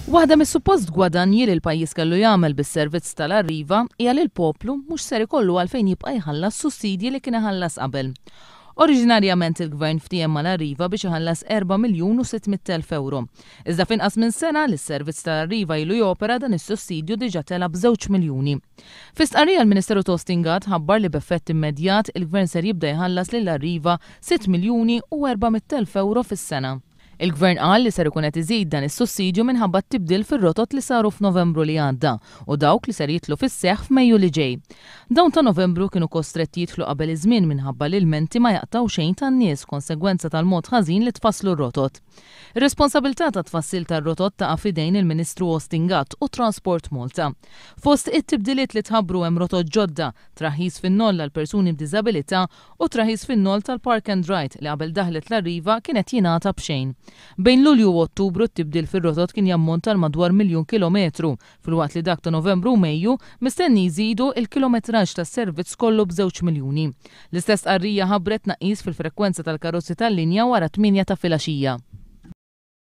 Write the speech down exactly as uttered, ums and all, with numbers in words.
Waħda mis-suppost gwadanji li l-pajjiż kellu jagħmel bis-servizz tal-Arriva hija li l-poplu mhux ser ikollu għalfejn jibqa' jħallas sussidji li kien iħallas qabel. Oriġinarjament il-Gvern ftiehem mal-Arriva biex iħallas erba' miljun u sitt mitt elf ewro. Iżda f'inqas minn sena li s-servizz tal-Arriva ilu jopera, dan is-sussidju diġà tela' b'żewġ miljuni. Fi stqarrija l-Ministeru Austin Gatt ħabbar li b'effett immedjat il-Gvern ser jibda jħallas lil Arriva sitt miljuni u erba' mitt elf ewro fis-sena. Il-Gvern qal li ser ikun qed iżid dan is-sussidju minħabba t-tibdil fir-rotot li saru f'Novembru li għadda u dawk li ser jidħlu fis-seħħ f'Mejju li ġej. Dawn ta' Novembru kienu kostretti jidħlu qabel iż-żmien minħabba li l-menti ma jaqtaw xejn tan-nies konsegwenza tal-mod ħażin li tfasslu r-rotot. Ir-responsabilità ta' tfassil tar-rotot taqa' f'idejn il-Ministru Austin Gatt u Transport Malta. Fost it-tibdiliet li tħabbru hemm rotot ġodda, traħħis fin-noll għal persuni b'diżabilità u traħħis fin-noll tal-Park and Ride li qabel daħlet l-Arriva kienet jingħata b'xejn. Bejn Lulju u Ottubru t-tibdil fir-rotot kien jammonta għal madwar miljun kilometru, filwaqt li dak ta' Novembru u Mejju mistenni jżidu il-kilometraġġ tas-servizz kollu b'żewġ miljuni. L-istess stqarrija ħabbret tnaqqis fil-frekwenza tal-karozzi tal-linja wara tmienja ta' filgħaxija.